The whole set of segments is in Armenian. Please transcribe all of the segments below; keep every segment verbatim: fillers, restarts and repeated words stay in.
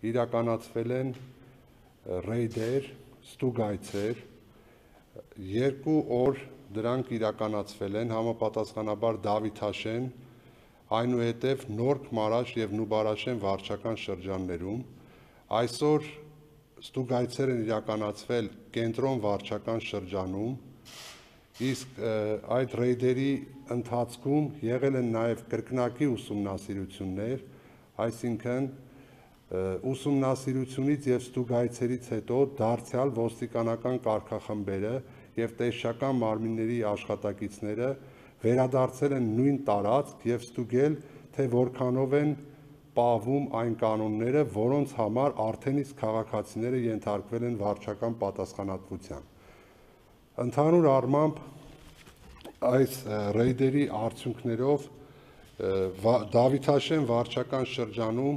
իրականացվել են ռեյդեր, ստուգայցեր, երկու օր դրանք իրականացվել են համապատասխանաբար Դավիթաշեն, այնուհետև Նորք Մարաշ և Նուբարաշեն վարչական շրջաններում, այսօր ստուգայցեր են իրականացվել կենտրոն վարչական շրջանում, իսկ այդ ռեյդերի ընթացքում եղել են նաև կրկնակի ուսումնասիրություններ, այսինքն ուսումնասիրությունից և ստուգայցերից հետո դարձյալ ոստիկանական կարգախմբերը և տեսչական մարմինների աշխատակիցները վերադարձել են նույն տարածք և ստուգել, թե որքանով են պահվում այն կանոնները, որոնց համար արդեն իսկ քաղաքացիները ենթարկվել են վարչական պատասխանատվության։ Ընդհանուր առմամբ այս ռեյդերի արդյունքներով Դավիթաշեն վարչական շրջանում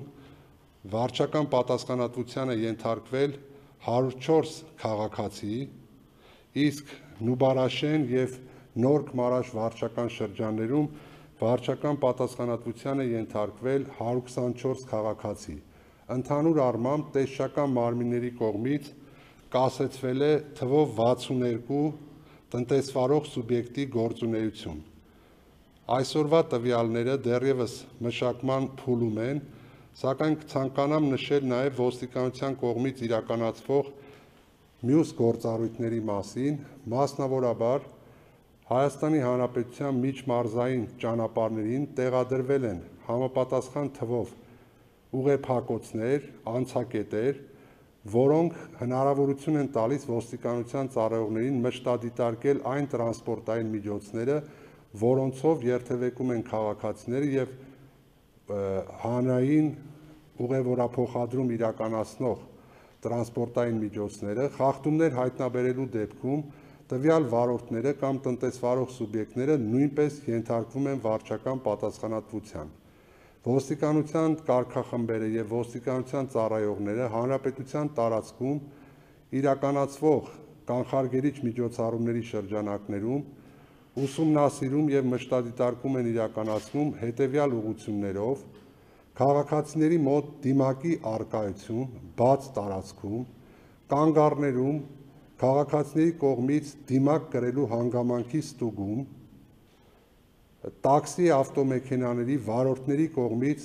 վարչական պատասխանատվության է ենթարկվել հարյուր չորս քաղաքացի, իսկ Նուբարաշեն և Նորք Մարաշ վարչական շրջաններում վարչական պատասխանատվության է ենթարկվել հարյուր քսանչորս քաղաքացի։ Ընդհանուր առմամբ տեսչական մարմինների կողմից կասեցվել է թվով վաթսուններկու տնտեսվարող սուբյեկտի գործունեություն։ Այսօրվա տվյալները դեռևս մշակման փուլում են, սակայն կցանկանամ նշել նաև ոստիկանության կողմից իրականացվող մյուս գործառույթների մասին, մասնավորաբար Հայաստանի Հանրապետության միջմարզային ճանապարհներին տեղադրվել են համապատասխան թվով ուղեփակոցներ, անցակետեր, որոնք հնարավորություն են տալիս ոստիկանության ծառայողներին մշտադիտարկել այն տրանսպորտային միջոցները, որոնցով երթևեկում են քաղաքացիները և հանրային ուղևորափոխադրում իրականացնող տրանսպորտային միջոցները, խախտումներ հայտնաբերելու դեպքում տվյալ վարորդները կամ տնտեսվարող սուբյեկտները նույնպես ենթարկվում են վարչական պատասխանատվության։ Ոստիկանության կարգախմբերը և ոստիկանության ծառայողները հանրապետության տարածքում իրականացվող կանխարգելիչ միջոցառումների շրջանակներում ուսումնասիրում և մշտադիտարկում են իրականացնում հետևյալ ուղղություններով՝ քաղաքացիների մոտ դիմակի առկայություն բաց տարածքում, կանգառներում քաղաքացիների կողմից դիմակ կրելու հանգամանքի ստուգում, տաքսի ավտոմեքենաների վարորդների կողմից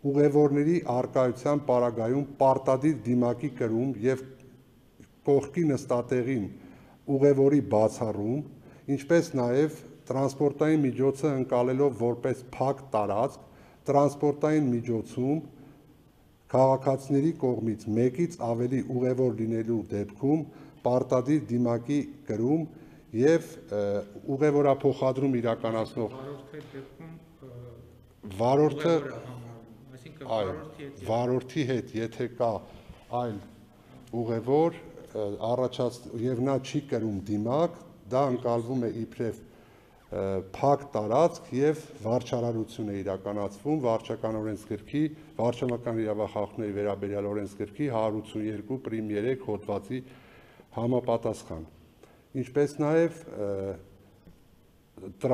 ուղևորների առկայության պարագայում պարտադիր դիմակի կրում և կողքի նստատեղին ուղևորի բացառում, ինչպես նաև տրանսպորտային միջոցը ընկալելով որպես փակ տարածք, տրանսպորտային միջոցում քաղաքացիների կողմից մեկից ավելի ուղևոր լինելու դեպքում պարտադիր դիմակի կրում և ուղևորափոխադրում իրականացնող վարորդը վարորդի հետ եթե կա այլ ուղևոր և նա չի կրում դիմակ, դա ընկալվում է իբրև փակ տարածք և վարչարարություն է իրականացվում վարչական օրենսգրքի վարչական իրավախախտումների վերաբերյալ օրենսգրքի հարյուր ութսուններկու պրիմ երեք հոդվածի համապատասխան, ինչպես նաև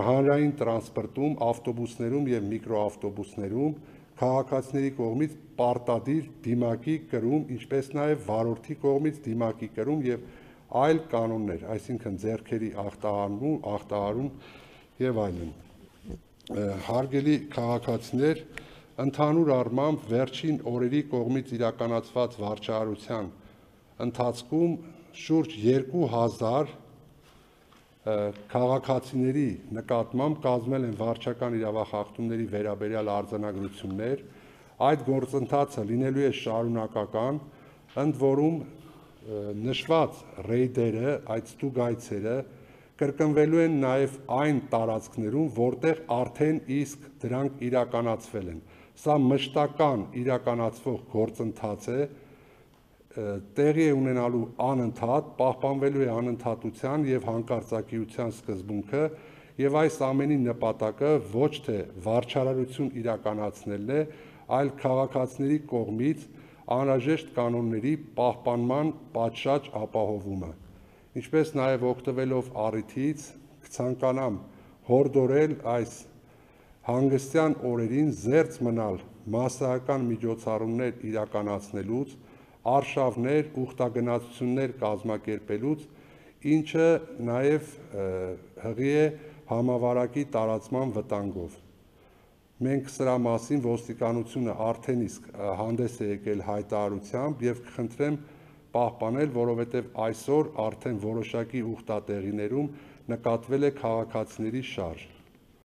հանրային տրանսպորտում, ավտոբուսներում և միկրոավտոբուսներում քաղաքացիների կողմից պարտադիր դիմակի կրում, ինչպես նաև վարորդի կողմից դիմակի կրում և այլ կանոններ, այսինքն ձեռքերի ախտահարում և այլն։ Հարգելի քաղաքացիներ, ընդհանուր առմամբ վերջին օրերի կողմից իրականացված վարչարարության ընթացքում շուրջ երկու հազար քաղաքացիների նկատմամբ կազմել են վարչական իրավախախտումների վերաբերյալ արձանագրություններ, այդ գործընթացը լինելու է շարունակական, ընդ որում նշված ռեյդերը, այդ ստուգայցերը կրկնվելու են նաև այն տարածքներում, որտեղ արդեն իսկ դրանք իրականացվել են։ Սա մշտական իրականացվող գործընթաց է, տեղի է ունենալու անընդհատ, պահպանվելու է անընդհատության և հանկարծակիության սկզբունքը և այս ամենի նպատակը ոչ թե վարչարարություն իրականացնելն է, այլ քաղաքացիների կողմից անհրաժեշտ կանոնների պահպանման պատշաճ ապահովումը։ Ինչպես նաև օգտվելով առիթից կցանկանամ հորդորել այս հանգստյան օրերին զերծ մնալ մասսայական միջոցառումներ իրականացնելուց, արշավներ, ուխտագնացություններ կազմակերպելուց, ինչը նաև հղի է համավարակի տարածման վտանգով։ Մենք սրա մասին ոստիկանությունը արդեն իսկ հանդես է եկել հայտարարությամբ եւ կխնդրեմ պահպանել, որովհետեւ այսօր արդեն որոշակի ուխտատեղիներում նկատվել է քաղաքացիների շարժ։